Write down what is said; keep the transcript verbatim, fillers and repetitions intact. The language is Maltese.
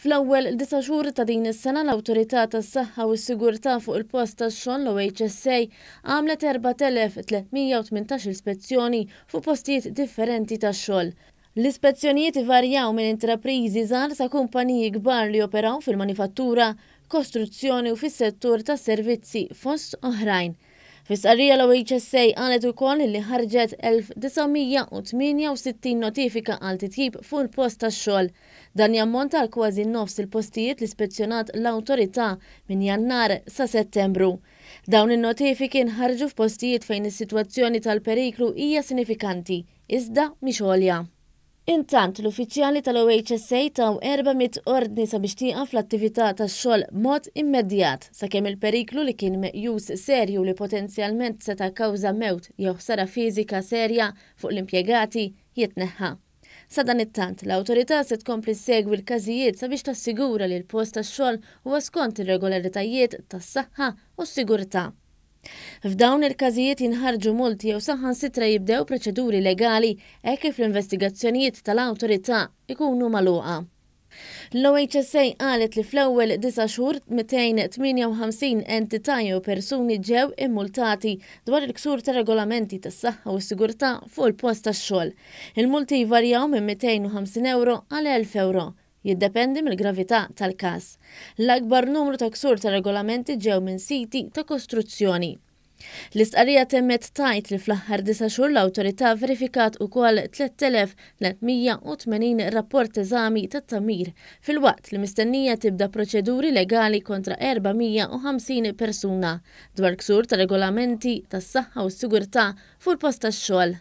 Fl-ewwel disa' xhur ta' din is-sena, l-Awtorità tas-Saħħa u s-Sigurtà fuq il-Post tax-Xogħol, l-O H S A, għamlet erbat elef tliet mija u tmintax-il spezzjoni fuq postijiet differenti tax-xogħol. L-ispezzjonijiet ivarjaw minn intrapriżi żgħar sa kumpaniji kbar li operaw fil-manifattura, kostruzzjoni u fis-settur tas-servizzi, fost oħrajn. Fi stqarrija, l-O H S A qalet ukoll li ħarġet elf disa' mija u tmienja u sittin notifika għal titjib fuq il-post tax-xogħol. Dan jammonta għal kważi nofs il-postijiet li spezzjonat l-awtorità minn Jannar sa Settembru. Dawn in-notifiki nħarġu f'postijiet fejn is-sitwazzjoni tal-periklu hija sinifikanti, iżda mhix għolja. Intant, l-uffiċjali tal-O H S A taw erba' mitt ordni sabiex tieqaf l-attività tax-xogħol mod immedjat sakemm il-periklu li kien meqjus serju li potenzjalment seta' kkawża mewt jew ħsara fiżika serja fuq l-impjegati jitneħħa. Sadanittant, l-awtorità se tkompli segwi l-każijiet sabiex tassigura li l-post tax-xogħol huwa skont ir-regolaritajiet tas-saħħa u s-sigurtà. F'dawn il-każijiet jinħarġu multi jew saħansitra jibdew proċeduri legali hekk kif l-investigazzjonijiet tal-awtorità ikunu magħluqa. L-O H S A qalet li fl-ewwel disa' xhur mitejn u tmienja u ħamsin entità jew persuni ġew immultati dwar il-ksur ta' regolamenti tas-saħħa u s-sigurtà fuq il-post tax-xogħol. Il-multi jvarjaw minn mitejn u ħamsin euro għal elf euro. Jiddependi mill-gravità tal-każ. L-akbar numru ta' ksur ta' regolamenti ġew minn siti ta' kostruzzjoni. L-istqarrija temmet tgħid li fl-aħħar disa' xhur l-awtorità verifikat ukoll tliet elef tliet mija u tmenin rapport eżami tat-tagħmir, filwaqt li mistennija tibda proċeduri legali kontra erba' mija u ħamsin persuna dwar ksur ta' regolamenti tas-saħħa u s-sigurtà fuq il-post tax-xogħol.